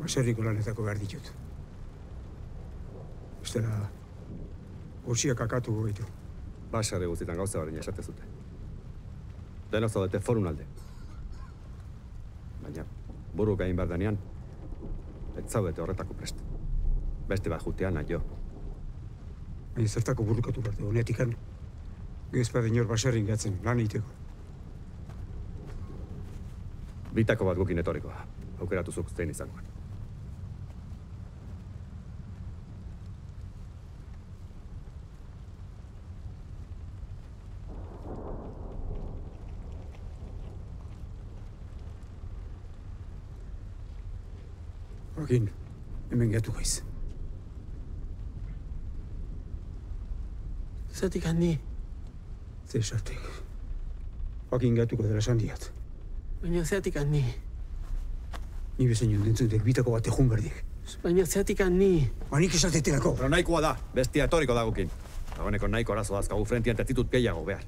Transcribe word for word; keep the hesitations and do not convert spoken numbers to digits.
Baserriko lanetako behar ditut. Bestela, gutxiak akatu goitu. Basarri guztietan gauza berdina esate zute. Denok zaudete forun alde. Baina, buru gain behar denean, ez zaudete horretako prest. Beste bat jutean, nahi jo. Baina zertako burrukatu behar dugu, netikan. Gezpa denor baserrin gatzen, lan egiteko. Bitako bat gukin etorrikoa. Aukeratu zuk zein izangoan. Joaquin, hemen gehatu gaiz. Zertik handi? Zer sartek. Joaquin gehatuko dela esan diat. Baina zertik handi? Ni bezain jondentzutek bitako bat ejun berdik. Baina zertik handi? Banik esatetelako. Pero nahikoa da, bestia etorriko da gukin. Dagoeneko nahiko arazo dazkagu frentian, ez ditut gehiago behar.